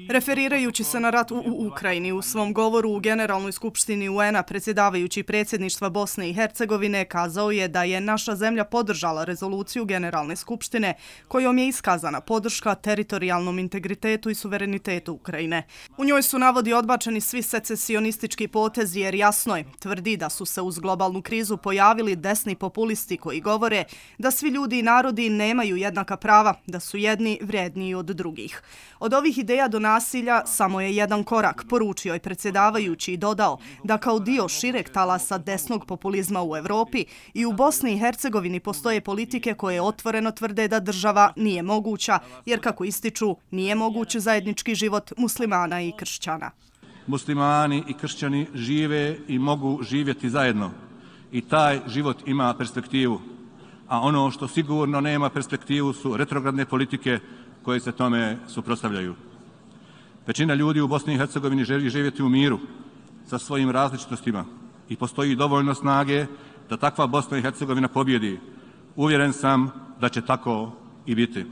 Referirajući se na rat u Ukrajini, u svom govoru u Generalnoj skupštini UN-a predsjedavajući predsjedništva Bosne i Hercegovine kazao je da je naša zemlja podržala rezoluciju Generalne skupštine kojom je iskazana podrška teritorijalnom integritetu i suverenitetu Ukrajine. U njoj su, navodi, odbačeni svi secesionistički potezi jer jasno je, tvrdi da su se uz globalnu krizu pojavili desni populisti koji govore da svi ljudi i narodi nemaju jednaka prava, da su jedni vrijedniji od drugih. Od ovih ideja do nasilja samo je jedan korak, poručio je predsjedavajući i dodao da kao dio šireg talasa desnog populizma u Evropi i u Bosni i Hercegovini postoje politike koje otvoreno tvrde da država nije moguća, jer kako ističu, nije moguć zajednički život muslimana i kršćana. Muslimani i kršćani žive i mogu živjeti zajedno i taj život ima perspektivu, a ono što sigurno nema perspektivu su retrogradne politike koje se tome suprotstavljaju. Većina ljudi u Bosni i Hercegovini želi živjeti u miru sa svojim različitostima i postoji dovoljno snage da takva Bosna i Hercegovina pobjedi. Uvjeren sam da će tako i biti.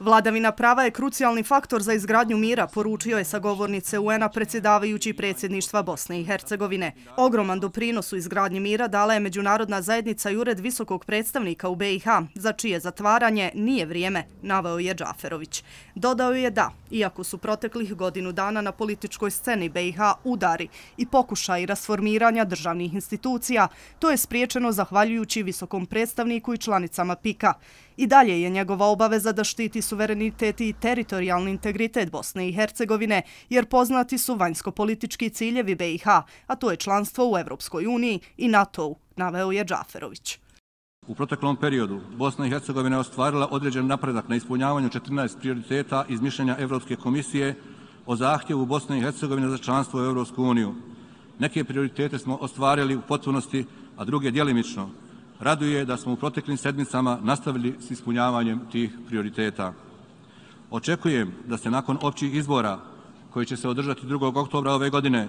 Vladavina prava je krucijalni faktor za izgradnju mira, poručio je sa govornice UN-a predsjedavajući predsjedništva Bosne i Hercegovine. Ogroman doprinos u izgradnji mira dala je međunarodna zajednica i Ured visokog predstavnika u BiH, za čije zatvaranje nije vrijeme, naveo je Džaferović. Dodao je da, iako su proteklih godinu dana na političkoj sceni BiH udari i pokušaj rasformiranja državnih institucija, to je spriječeno zahvaljujući visokom predstavniku i članicama PIK-a. I dalje je njegova obaveza da štiti suverenitet i teritorijalni integritet Bosne i Hercegovine, jer poznati su vanjsko-politički ciljevi BiH, a to je članstvo u Evropskoj uniji i NATO-u, naveo je Džaferović. U proteklom periodu Bosna i Hercegovina je ostvarila određen napredak na ispunjavanju 14 prioriteta iz mišljenja Evropske komisije o zahtjevu Bosne i Hercegovine za članstvo u Evropsku uniju. Neke prioritete smo ostvarili u potpunosti, a druge djelimično. Raduje da smo u proteklim sedmicama nastavili s ispunjavanjem tih prioriteta. Očekujem da se nakon općih izbora koji će se održati 2. oktobra ove godine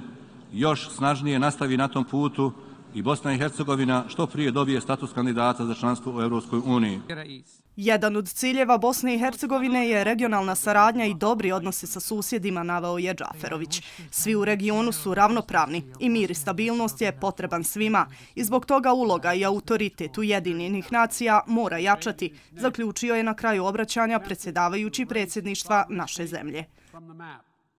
još snažnije nastavi na tom putu i Bosna i Hercegovina što prije dobije status kandidata za članstvo u Europskoj uniji. Jedan od ciljeva Bosne i Hercegovine je regionalna saradnja i dobri odnosi sa susjedima, naveo je Džaferović. Svi u regionu su ravnopravni i mir i stabilnost je potreban svima i zbog toga uloga i autoritet Ujedinjenih nacija mora jačati, zaključio je na kraju obraćanja predsjedavajući predsjedništva naše zemlje.